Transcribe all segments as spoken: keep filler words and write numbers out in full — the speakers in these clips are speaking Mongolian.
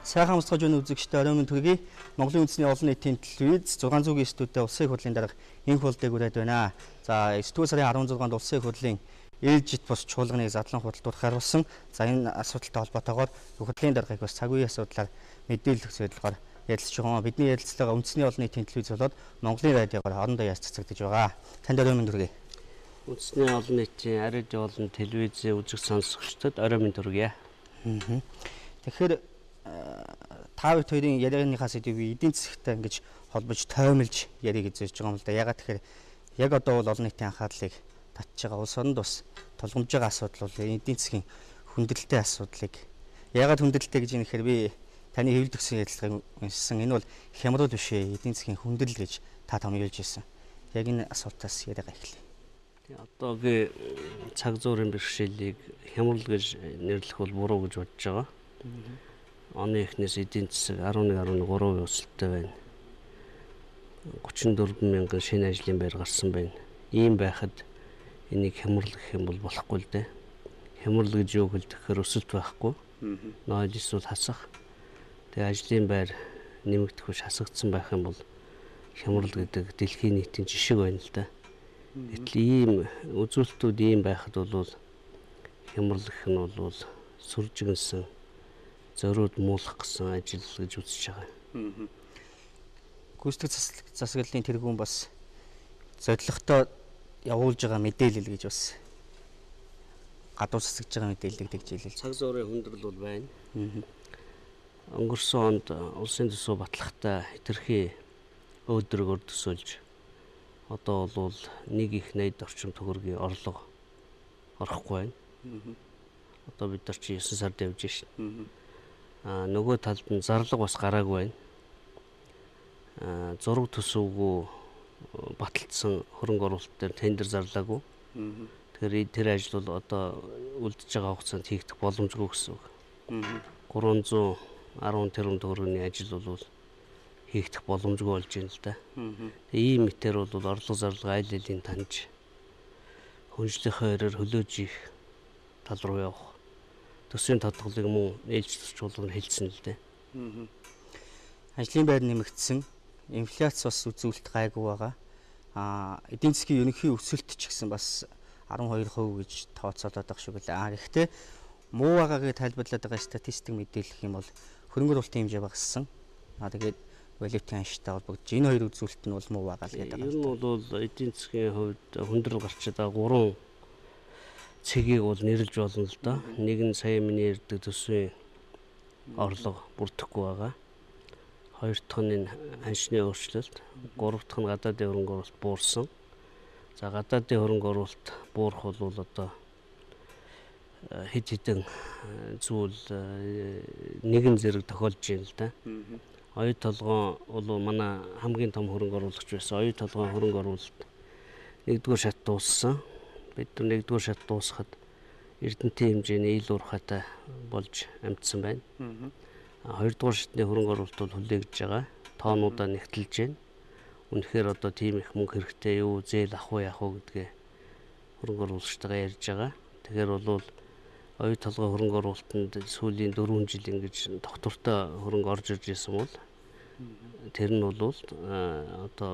Сайхан амсгаж өгнө үзэгчтэй оройн төргий Монголын үндэсний олон нийтийн телевиз зургаан зүйн студид улсын их хурлын дарга энх болдог үрээд байна. За сэтгүүл сарын арван зургаанд улсын их хурлын ээлжит бус чуулганыг задлан худалдуулах харуулсан. За энэ асуудалтай холбоотойгоор их хурлын даргыг бас цаг үеийн асуудлаар мэдээлэл өгөх зорилгоор ярилцж байгаа. Бидний ярилцлага үндэсний олон нийтийн телевиз болоод Монголын радиогоор хоорондоо яаж цацагдж байгаа. Танд оройн төргий. Үндэсний олон нийтийн арид олон телевизийн үзэг сонсогчдод оройн төргий. Тэгэхээр та бүхэн хоёрын ярианыхаа сэдвийг эдийн засагтай ингэж холбож тоймлж ярих гэж зорж байгаа юм л да. Ягаад тэгэхээр яг одоо бол олон нийтийн анхаарлыг татж байгаа улс оронд бас тулгамж байгаа асуудал бол эдийн засгийн хүндрэлтэй асуудлыг ягаад хүндрэлтэй гэж нэхэр би таны хэвлэл төгсөн ярилцлагыг уншсан. Энэ бол хямрал биш ээ, эдийн засгийн хүндрэл гэж та томьёолж ирсэн. Яг энэ асуултаас яриагаа эхлэе. Тэгээ одоогийн цаг зуурын бэрхшээлийг хямрал гэж нэрлэх бол буруу гэж бодож байгаа. Оны эхнээс эдийн засаг арван нэг арван гурван өсөлттэй байна. гучин дөрвөн мянган шинэ ажлын байр гарсан байна. Ийм байхад энийг хямрал гэх юм бол болохгүй л дээ. Хямрал гэж юу хэлэхээр өсөлт байхгүй. Ноёл эсвэл хасах. Тэгээ ажлын байр нэмэгдэх биш хасагдсан байх юм бол хямрал гэдэг дэлхийн нийтийн жишг байна л да. Гэтэл ийм үзүүлэлтүүд ийм байхад бол хямрал гэх нь бол сүржигнсэн зориуд муулах гэсэн ажил гэж үзэж байгаа. Гүйцэтгэх засаглалын тэргүүн бас зорилготой явуулж байгаа мэдээлэл гэж бас гадуур засагж байгаа мэдээлэл гэж хэлээ. Цаг зуурын хүндрэл бол байна. Өнгөрсөн онд улсын төсөв батлахтаа хэтэрхий өөдрөг өрдөсөөлж одоо бол нэг их найд орчим төгрөгийн орлого орохгүй байна. Одоо бид нар чи есөн сард явж шин. А нөгөө талд нь зарлага бас гараагүй байна. А зураг төсөвгүй баталсан хөрөнгө оруулалт дээр тендер зарлаагүй. Тэгэхээр тэр ажил бол одоо үлдэж байгаа хугацаанд хийгдэх боломжгүй гэсэн үг. гурван зуун арван тэрбум төгрөгийн ажил бол хийгдэх боломжгүй болж байна л да. Тэгээ ийм мэтэр бол орлого зарлага айл алийн таньж хүнжлийнхээ хэрээр хөлөөж их тал руу явах. Төсвийн тодголыг мөн ээлж чуулганд хэлсэн л дээ. Ажлын байр нэмэгдсэн, инфляц бас үзүүлэлт гайгүй байгаа. Аа эдийн засгийн ерөнхий өсөлт ч гэсэн бас арван хоёр хувь гэж тооцоолоод байгаа шүү гэлээ. Аа гэхдээ муу байгаагийг тайлбарлаад байгаа статистик мэдээлэх юм бол хөрөнгө оруулалтын хэмжээ багассан. Аа тэгээд валютын анштай холбогдож энэ хоёр үзүүлэлт нь бол муу байгаа л гэдэг. Ер нь бол эдийн засгийн хувьд хүндрэл гарч байгаа гурван цэгийг бол нэрлж болно л да. Нэг нь сая миний ярьдаг төсвийн орлого бүрдэхгүй байгаа. Хоёр дахь нь аншны өөрчлөлт, гурав дахь нь гадаадын хөрөнгө оруулалт буурсан. За гадаадын хөрөнгө оруулалт буурах бол одоо хэд хэдэн зүйл нэгэн зэрэг тохиолж байна л да. Оюу толгой бол манай хамгийн том хөрөнгө оруулагч байсан. Оюу толгойн хөрөнгө оруулалт нэгдүгээр шат дууссан. Бид нар нэгдүгээр шат дуусахад эрдэнтийн хэмжээний ил уурхайтай болж амжсан байна. Хоёрдугаар шатны хөрөнгө оруулалт бол хүлээгдэж байгаа. Тоонуудаа нэгтэлж байна. Үнэхээр одоо тийм их мөнгө хэрэгтэй юу, зээл ах уу яах уу гэдгээ хөрөнгө оруулагчтайгаа ярьж байгаа. Тэгэхээр бол оюу толгой хөрөнгө оруулалтанд сүүлийн дөрвөн жил ингэж доктортой хөрөнгө орж ирж байсан бол тэр нь бол одоо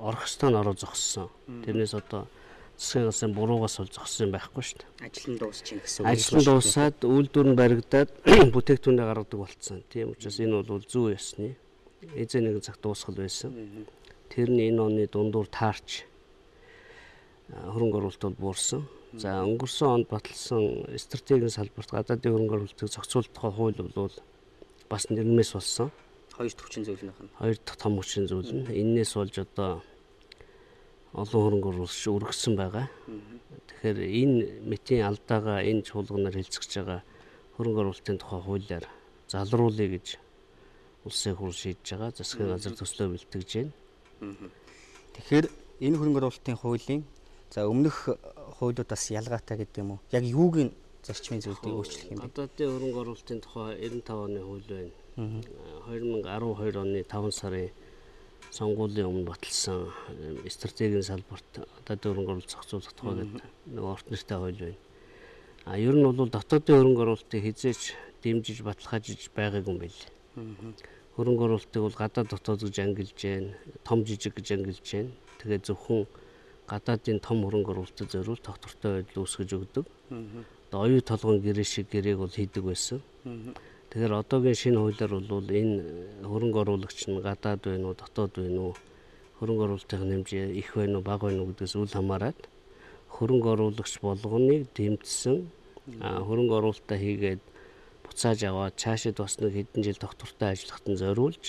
орох ёстой нь ороо зогссон. Тэрнээс одоо засгийн газрын буруугаас бол зогссон байхгүй шүү дээ. Ажил нь дуусчихин гэсэн үг. Ажил нь дуусаад үйлдвэр нь баригдаад бүтээгдэхүүнээ гаргадаг болцсон. Тийм учраас энэ бол зүү ёсны эзэн нэгэн цаг дуусгал байсан. Тэр нь энэ оны дундуур таарч хөрөнгө оруулалт бол буурсан. За өнгөрсөн онд баталсан стратегийн салбарт гадаадын хөрөнгө оруулалтыг зохицуулах тухай хууль бол бас нэрмээс болсон. Хоёр дахь хүчин зүйлийнх нь. Хоёр дахь том хүчин зүйл нь энээс болж одоо олон хөрөнгө оруулагч өргөссөн байгаа. Тэгэхээр энэ мэтийн алдаагаа энэ чуулганаар хэлцэж байгаа хөрөнгө оруулалтын тухай хуулиар залруулъя гэж улсын хурл шийдэж байгаа. Засгийн газар төслөө бэлтгэж байна. Тэгэхээр энэ хөрөнгө оруулалтын хуулийн за өмнөх хуулиудаас ялгаатай гэдэг юм уу? Яг юуг нь зарчмын зүйлийг өөрчлөх юм бэ? Гадаадын хөрөнгө оруулалтын тухай девяносто пять оны хууль байна. две тысячи десять оны таван сарын сонгуулийн өмнө баталсан стратегийн салбарт гадаадын хөрөнгө оруулалт зохицуулах тухай гэдэг нэг орт нэртэй хууль байна. А ер нь бол дотоодын хөрөнгө оруулалтыг хизээч дэмжиж баталгаажиж байгаагүй юм байл. Хөрөнгө оруулалтыг бол гадаад дотоод гэж ангилж байна, том жижиг гэж ангилж байна. Тэгээд зөвхөн гадаадын том хөрөнгө оруулалтад зориул тогтвортой байдал үүсгэж өгдөг. Одоо оюу толгойн гэрээ шиг гэрээг бол хийдэг байсан. Тэгэхээр одоогийн шинэ хуулиар бол энэ хөрөнгө оруулагч нь гадаад байна уу, дотоод байна уу, хөрөнгө оруулалтын хэмжээ их байна уу, бага байна уу гэдгээс үл хамааран хөрөнгө оруулагч болгоныг дэмжсэн хөрөнгө оруулалтаа хийгээд буцааж аваад цаашид бас нэг хэдэн жил тогтвортой ажиллахад нь зориулж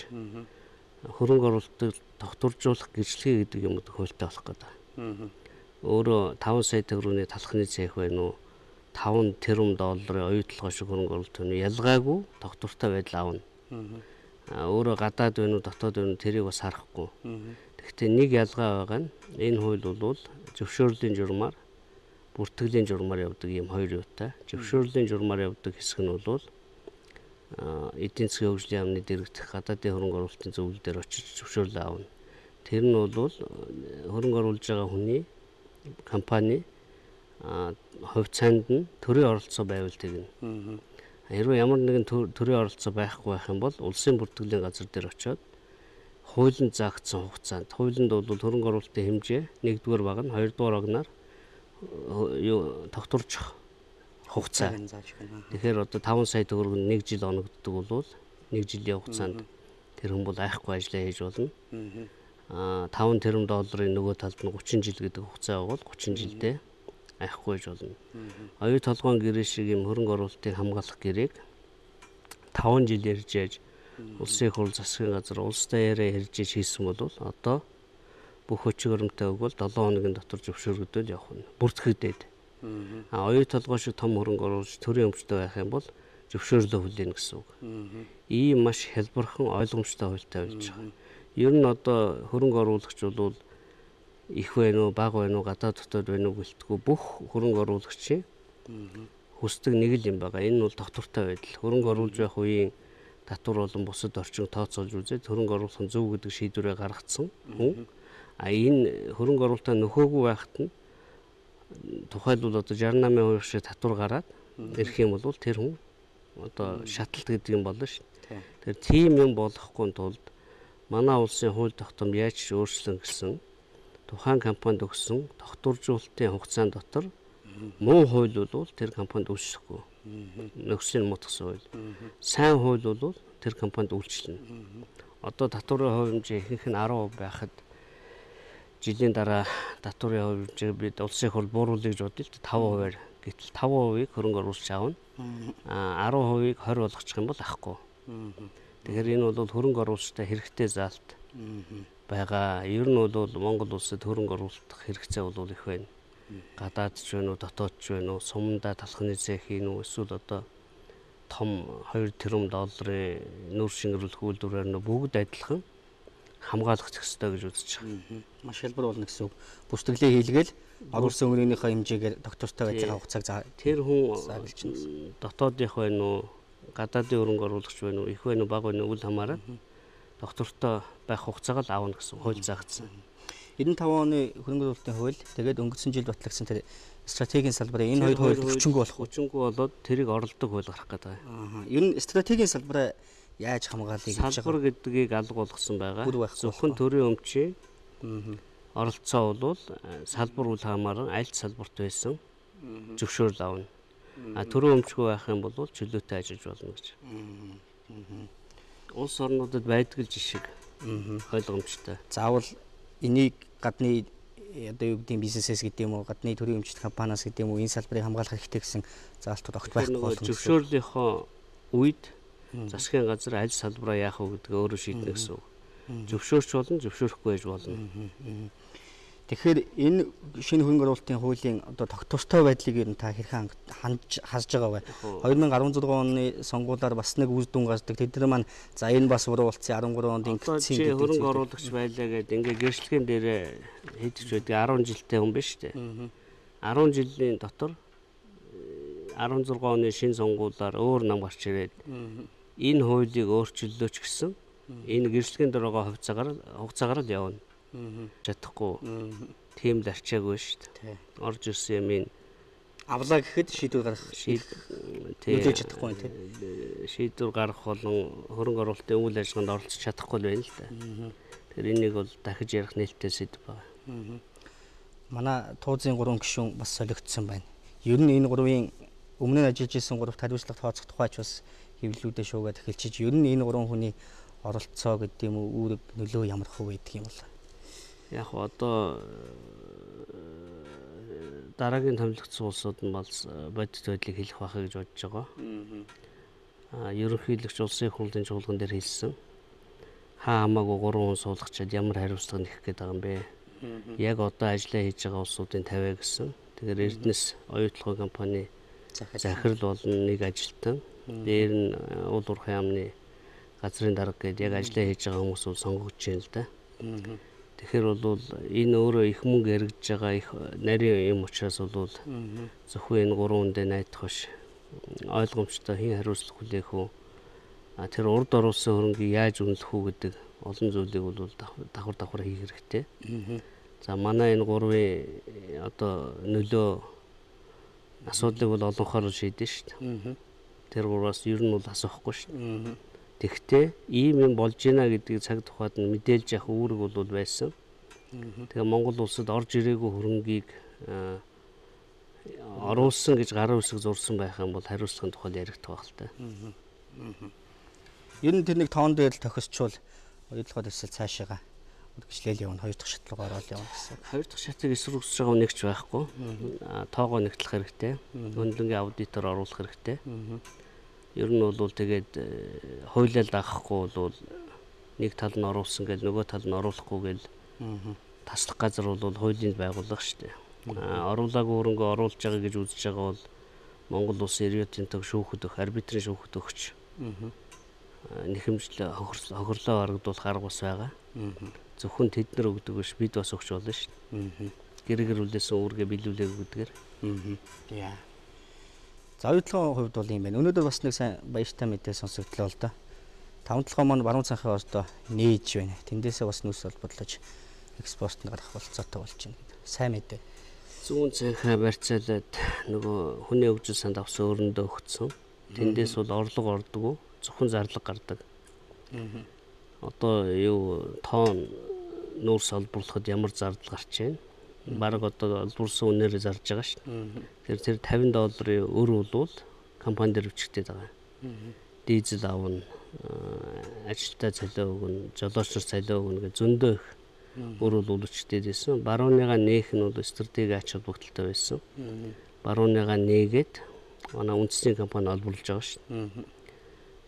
хөрөнгө оруулалтыг тогтворжуулах гэрчлэгээ гэдэг юм хуультай болох гэдэг. Өөрөө таван сая төгрөгийн талхны цех байна уу, таван тэрбум долларын оюутлогоо шиг хөрөнгө оруулалт байна уу, ялгаагүй тогтвортой байдал аавна. Өөрөө гадаад байна уу, дотоод байна уу тэрийг бас харахгүй. Гэхдээ нэг ялгаа байгаа нь энэ хууль бол зөвшөөрлийн журмаар бүртгэлийн журмаар явдаг юм хоёр юутай. Зөвшөөрлийн журмаар явдаг хэсэг нь бол эдийн засгийн хөгжлийн яамны дэргэдэх гадаадын хөрөнгө оруулалтын зөвлөлдөр очиж зөвшөөрлөө авна. Тэр нь бол хөрөнгө оруулж байгаа хүний компани хувьцаанд нь төрийн оролцоо байвал тэгнэ. Хэрвээ ямар нэгэн төрийн оролцоо байхгүй байх юм бол улсын бүртгэлийн газар дээр очиод хуулинд заагдсан хугацаанд хуулинд бол хөрөнгө оруулалтын хэмжээ нэгдүгээр баг нь хоёрдугаар багнаар юу тогтворчих хугацаа. Тэгэхээр одоо таван сая төгрөг нь нэг жил оногддог бол нэг жилийн хугацаанд тэр хүн бол айхгүй ажиллаа хийж болно. Аа таван тэрбум долларын нөгөө талд нь гучин жил гэдэг хугацаа бол гучин жилдээ айхгүй хийж болно. Оюу толгойн гэрээ шиг юм хөрөнгө оруулалтыг хамгаалах гэрээг таван жил ярьж яаж улсын хурал засгийн газар улстай яриа ярьж хийсэн бол одоо бүх хүч хөрөмтэй өгвөл долоон хоногийн дотор зөвшөөрөгдөөл явах нь бүртгэгдээд. А оюу толгой шиг том хөрөнгө оруулагч төрийн өмчтэй байх юм бол зөвшөөрлөө хүлээнэ гэсэн үг. Ийм маш хэлбэрхэн ойлгомжтой хуультай болж байгаа. Ер нь одоо хөрөнгө оруулагч бол их байна уу, бага байна уу, гадаад дотоод байна уу гэлтгүй бүх хөрөнгө оруулагчийн хүсдэг нэг л юм байгаа. Энэ бол тогтвортой байдал. Хөрөнгө оруулж байх үеийн татвар болон бусад орчин тооцоолж үзээд хөрөнгө оруулах нь зөв гэдэг шийдвэрээ гаргацсан хүн. А энэ хөрөнгө оруулалтаа нөхөөгүй байхад нь тухайлбал одоо шестнадцать мянган шиг татвар гараад ирэх юм бол тэр хүн одоо шаталт гэдэг юм болно шүү. Тэр тийм юм болохгүй тулд манай улсын хууль тогтоом яаж өөрчлөн гэсэн тухайн компанид өгсөн тогтворжуулалтын хугацаанд дотор муу хууль бол тэр компанид үйлчлэхгүй. Нөхцөлийн мутгсан хууль. Сайн хууль бол тэр компанид үйлчлэнэ. Одоо татварын хувь хэмжээ ихэнх нь арав хувь байхад жилийн дараа татварын хувь хэмжээ бид улсын хурал бууруулъя гэж бодлоо таван хувиар. Гэтэл таван хувийг хөрөнгө оруулалт авна. А арав хувийг хорь болгочих юм бол ахгүй. Тэгэхээр энэ бол хөрөнгө оруулалттай хэрэгтэй заалт байгаа. Ер нь бол Монгол улсад хөрөнгө оруулах хэрэгцээ бол их байна. Гадаад ч байна уу, дотоод ч байна уу, сумдаа талхны цех хийн үү, эсвэл одоо том хоёр тэрбум долларын нүүр шингэрүүлэх үйлдвэрээр нь бүгд адилхан хамгаалах хэрэгтэй гэж үзэж байгаа. Маш хэлбэр болно гэсэн үг. Бүсдэглээ хийлгээл оруулсан өрөөнийхөө хэмжээгээр тогтвортой байдлаа хугацааг заа. Тэр хүн дотоодынх байна уу, гадаадын хөрөнгө оруулагч байна уу, их байна уу, бага байна уу үл хамааран доктортой байх хугацааг л аавна гэсэн хууль заагдсан. хэдэн таван оны хөрөнгө оруулалтын хууль тэгээд өнгөрсөн жил батлагдсан тэр стратегийн салбарын энэ хоёр хууль хүчингүй болох хүчингүй болоод тэрийг оролдог хууль гарах гэдэг. Аа. Ер нь стратегийн салбараа яаж хамгаалъя гэж байгаа. Салбар гэдгийг алга болгосон байгаа. Зөвхөн төрийн өмчийн оролцоо бол салбар үл хамааран аль салбарт байсан зөвшөөрөл авна. А төрийн өмчгүй байх юм бол чөлөөтэй ажиллаж болно гэж. Улс орнуудад байдаг л жишг ойлгомжтой. Заавал энийг гадны одоо юу гэдэг бизнесээс гэдэг юм уу, гадны төрийн өмчт компаниас гэдэг юм уу, энэ салбарыг хамгаалах хэрэгтэй гэсэн заалтууд огт байхгүй болох. Зөвшөөрлийнхөө үед засгийн газар аль салбараа яах вэ гэдгээ өөрөө шийднэ гэсэн үг. Зөвшөөрч болно, зөвшөөрөхгүй байж болно. Тэгэхээр энэ шинэ хөрөнгө оруулалтын хуулийн одоо тогтвортой байдлыг ер нь та хэрхэн хандж хасж байгаа вэ? хоёр мянга арван зургаан оны сонгуулиар бас нэг үр дүн гардаг. Тэд нар маань за энэ бас буруу болсон арван гурван онд ингэсэн гэдэг. Хөрөнгө оруулагч байлаа гэдэг ингээ гэрчлэгийн дээрээ хийдэж байдаг арван жилтэй хүн биш үү? арван жилийн дотор арван зургаан оны шинэ сонгуулиар өөр нам гарч ирээд энэ хуулийг өөрчиллөөч гэсэн энэ гэрчлэгийн дээр байгаа хувьцаагаар хугацаагаар л явна. Чадахгүй тийм л арчаагүй шүү дээ. Орж ирсэн юм ин авлаа гэхэд шийдвэр гаргах нөлөөж чадахгүй тийм. Шийдвэр гаргах болон хөрөнгө оруулалтын үйл ажиллагаанд оролцож чадахгүй байна л да. Тэгэхээр энийг бол дахиж ярих нээлттэй сэдв байна. Манай туузын гурван гишүүн бас солигдсон байна. Ер нь энэ гурвын өмнө нь ажиллаж исэн гуравт хариуцлага тооцох тухайч бас хэвлэлүүдээ шуугаад эхэлчих. Ер нь энэ гурван хүний оролцоо гэдэг юм уу үүрэг нөлөө ямар хөө байдаг юм бол. Яг одоо дараагийн томилогдсон улсууд нь бол бодит байдлыг хэлэх байхаа гэж бодож байгаа. Аа ерөнхийлөгч улсын хурлын чуулган дээр хэлсэн. Хаа хамаагүй гурван хүн суулгачаад ямар хариуцлага нэх гээд байгаа юм бэ? Яг одоо ажиллаа хийж байгаа улсуудын тавиа гэсэн. Тэгэхээр Эрдэнэс оюутлогын компани захирал болон нэг ажилтан. Дээр нь уул уурхай яамны газрын дарга гэдэг яг ажиллаа хийж байгаа хүмүүс бол сонгогдож байна л да. Тэгэхээр бол энэ өөрөө их мөнгө эргэж байгаа их нарийн юм учраас бол зөвхөн энэ гурван хүндээ найдах биш. Ойлгомжтой хэн хариуцлага хүлээх үү? А тэр урд оруулсан хөрөнгийг яаж үнэлэх үү гэдэг олон зүйлийг бол давхар давхар хийх хэрэгтэй. За манай энэ гурвын одоо нөлөө асуудлыг бол олонхоор шийдэн шүү дээ. Тэр гураас ер нь бол асуухгүй шүү дээ. Тэгвэл ийм юм болж байна гэдгийг цаг тухайд нь мэдээлж явах үүрэг бол байсан. Тэгээ Монгол улсад орж ирээгүй хөрөнгийг оруулсан гэж гарын үсэг зурсан байх юм бол хариуцлагын тухайд яригдах байх л та. Ер нь тэр нэг тоон дээр л тохисчвал оюутлогоо төсөл цаашаага үргэлжлээл явна. Хоёр дахь шат руу ороод явна гэсэн. Хоёр дахь шатыг эсрүүгсэж байгаа нэгч байхгүй. Тоогоо нэгтлэх хэрэгтэй. Хөндлөнгийн аудитор оруулах хэрэгтэй. Ер нь бол тэгээд хуулиар дагахгүй бол нэг тал нь оруулсан гэж нөгөө тал нь оруулахгүй гэл таслах газар бол хуулинд байгуулах шүү дээ. Оруулаагүй хөрөнгө оруулж байгаа гэж үзэж байгаа бол Монгол улсын эрдэнэтийн төг шүүхэд өгөх, арбитрийн шүүхэд өгч нэхэмжлээ хохирлоо харагдуулах арга бас байгаа. Зөвхөн тэд нар өгдөг биш бид бас өгч болно шүү дээ. Гэр гэр үлээсэн үүргээ биелүүлээг гэдгээр. Яа. За оюутлогын хувьд бол юм байна. Өнөөдөр бас нэг сайн баяртай мэдээ сонсогдлоо л да. таван толгой маань баруун цанхаа одоо нээж байна. Тэндээсээ бас нүс бол бодлож экспортт гарах болцоотой болж байна. Сайн мэдээ. Зүүн цанхаа барьцаалаад нөгөө хүний хөгжил санд авсан өрөндөө өгцсөн. Тэндээс бол орлого ордгоо зөвхөн зарлага гардаг. Одоо юу тоон нүүрс олборлоход ямар зардал гарч байна? Бараг одоо олборсон үнээр зарж байгаа шүү дээ. Тэр тэр тавин долларын өр бол компани дээр өчгдөд байгаа. Дизель авна, ажилтаа цалиу өгнө, жолоочор цалиу өгнө гэж зөндөө их өр бол өчгдөд байсан. Барууныгаа нээх нь бол стратеги ач холбогдолтой байсан. Барууныгаа нээгээд манай үндэсний компани олборлож байгаа шүү дээ.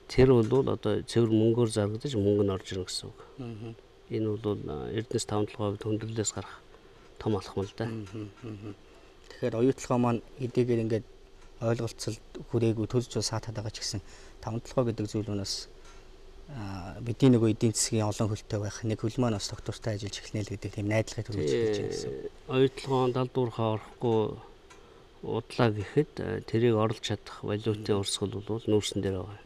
Тэр бол одоо цэвэр мөнгөөр зарагдаж мөнгө нь орж ирнэ гэсэн үг. Энэ бол Эрдэнэс таван толгойд хүндрэлээс гарах том алхам л да. Тэгэхээр оюутлогоо маань эдгээр ингээд ойлголцол хүрээгүй төлж саатаад байгаа ч гэсэн таван толгой гэдэг зүйл нь бас бидний нөгөө эдийн засгийн олон хөлтэй байх нэг хөл маань бас доктортай ажиллаж эхэлнэ л гэдэг тийм найдлагыг төрүүлж хэлж байна гэсэн. Оюутлогоо далдуурхаа орохгүй удлаа гэхэд тэрийг орлож чадах валютын урсгал бол нүүрсэн дээр байгаа.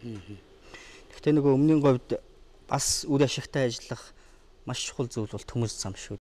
Гэхдээ нөгөө өмнөний говьд бас үр ашигтай ажиллах маш чухал зүйл бол төмөс зам шүү